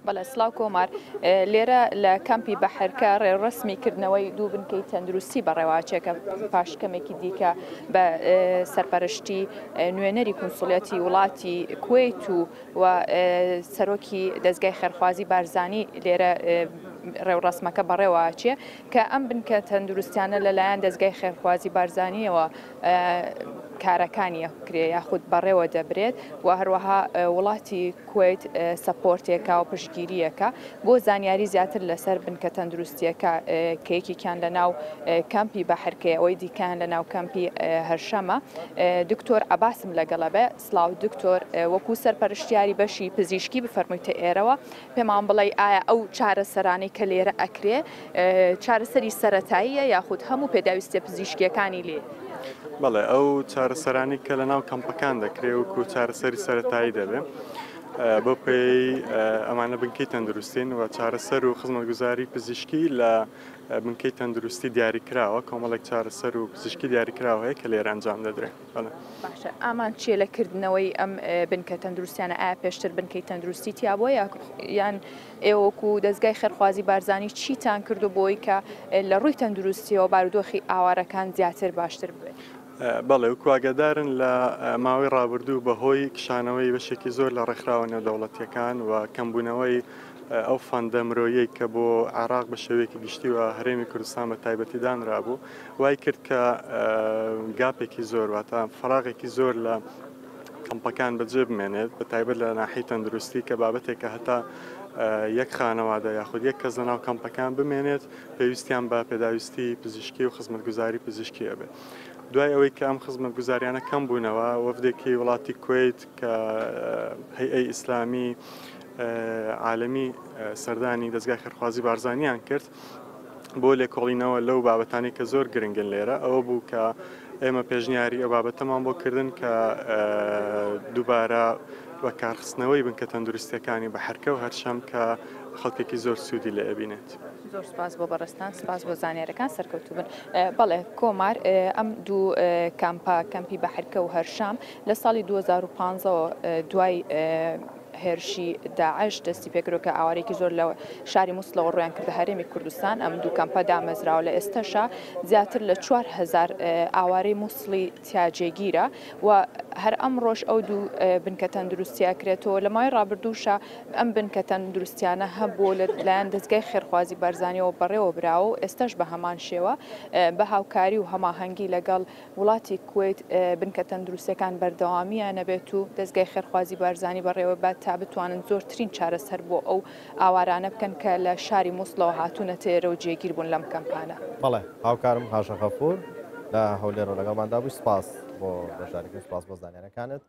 بەڵێ سڵاو کۆمار، لێرە لە کەمپی بەحرکە ڕێوڕەسمی کردنەوەی دوو بنکەی تەندروستی بەڕێوەچێ کە پاش کەمێکی دیکە بە سەرپەرشتی نوێنەری کونسوڵیەتی وڵاتی کوەیت و و سەرۆکی دەزگای خێرخوازی بارزانی لێرە ڕێوڕەسمەکە بەڕێوەچێ کە ئەم بنکە تەندروستیانە لەلایەن دەزگای خێرخوازی بارزانیەوە کارەکانی ئەکرێ یاخود بەڕێوە دەبرێت و هەروەها وڵاتی کوەیت سەپۆرتێکە و پشتگیرییەکە. بۆ زانیاری زیاتر لەسەر بنکە تەندروستییەکە کە یەکێکیان لە ناو کەمپی بەحرکەیە ئەوەی دیکەیان لە ناو کەمپی هەرشەمە دکتۆر عەباسم لەگەڵە بێ. سڵاو دکتۆر، وەکو سەرپەرشتیاری بەشی پزیشکی بفەرموویتە ئێرەوە پێمان بڵێی ئایا ئەو چارەسەرانەی کە لێرە ئەکرێ چارەسەری سەرەتاییە یاخود هەموو پێداویستیە پزیشکیەکانی لێ؟ بەڵێ ئەو چارەسەرانی کە لە ناو کەمپەکان دەکرێ وەکو چارەسەری سەرەتایی دەبێ بەو پێی ئەمانە بنکەی تەندروستین و چارەسەر و خزمەتگوزاری پزیشکی لە بنکەی تەندروستی دیاریکراوە کۆمەڵێک چارەسەر و پزیشکی دیاریکراوە هەیە کە لێرە ئەنجام دەدرێ. باشە ئامانج چیە لە کردنەوەی ئەم بنکە تەندروستیانە ئایا پێشتر بنکەی تەندروستی تیا بووە یان ئێوە وەکو دەزگای خێرخوازی بارزانی چیتان کردو بۆی کە لە ڕووی تەندروستیەوە بارودۆخی ئاوارەکان زیاتر باشتر ببێت؟ بەڵێ وەکو ئاگادارن لە ماوەی ڕابردوو بەهۆی کشانەوەی بەشێکی زۆر لە ڕێکخراوە نێودەوڵەتیەکان و کەمبوونەوەی ئەو فەندە مرۆیەی کە بۆ عێراق بە شێوەیەکی گشتی و هەرێمی کوردستان بە تایبەتی دانرابوو وای کرد کە گاپێکی زۆر واتە فەراغێکی زۆر لە کەمپەکان بەجێ بمێنێت بە تایبەت لە ناحی تەندروستی کە بابەتێکە هەتا یەک خانەوادە یاخود یەک کەس لەناو کەمپەکان بمێنێت پێویستیان بە پێداویستی پزیشکی و خزمەتگوزاری پزیشکی ئەبێت. دوای ئەوەی کە ئەم خزمەتگوزاریانە کەم بوونەوە وەفدێکی وڵاتی کوەیت کە هەیئەی ئیسلامی عالەمی سەردانی دەزگای خێرخوازی بارزانیان کرد بۆ لێکۆڵینەوە لەو بابەتانی کە زۆر گرنگن لێرە ئەوە بوو کە ئێمە پێشنیاری ئەو بابەتەمان بۆ کردن کە دووبارە بەکارخستنەوەی بنکە تەندروستیەکانی بە حرکە و هەرشەم کە خەڵکێکی زۆر سوودی لێ ئەبینێت. زۆر سپاس بۆ بەڕێزتان، سپاس بۆ زانیارەکان، سەرکەوتوو بن. بەڵێ کۆمار ئەم دوو کامپە، کەمپی بەحرکە و هەرشام لە ساڵی 2015 ەوە دوای هێرشی داعش دەستی پێکردووە کە ئاوارەیەکی زۆر لە شاری موسڵەوە ڕوویان کردە هەرێمی کوردستان، ئەم دوو کەمپە دامەزراوە لە ئێستەشا زیاتر لە 4000 ئاوارەی موسڵی تیا جێگیرە و هەر ئەمڕۆش ئەو دوو بنکە تەندروستیە کرێتەوە لە ماوەی ڕابردووشا ئەم بنکە تەندروستیانە هەبوو لە لایەن دەزگای خێرخوازی بارزانیەوە بەڕێوە براوە و ئێستاش بە هەمان شێوە بە هاوکاری و هەماهەنگی لەگەڵ وڵاتی کوەیت بنکە تەندروستیەکان بەردەوامیان نەبێت و دەزگای خێرخوازی بارزانی بەڕێوەبات تا بتوانن زۆرترین چارەسەر بۆ ئەو ئاوارانە بکەن کە لە شاری موسڵەوە هاتوونەتە ئێرە و جێگیر بوون لەم کەمپانە. بەڵێ هاوکارم هاژە غەفور لە هەولێرەوە لەگەڵماندا بووی، سپاس بۆ بەشداریکردن، سپاس بۆ زانیاریەکانت.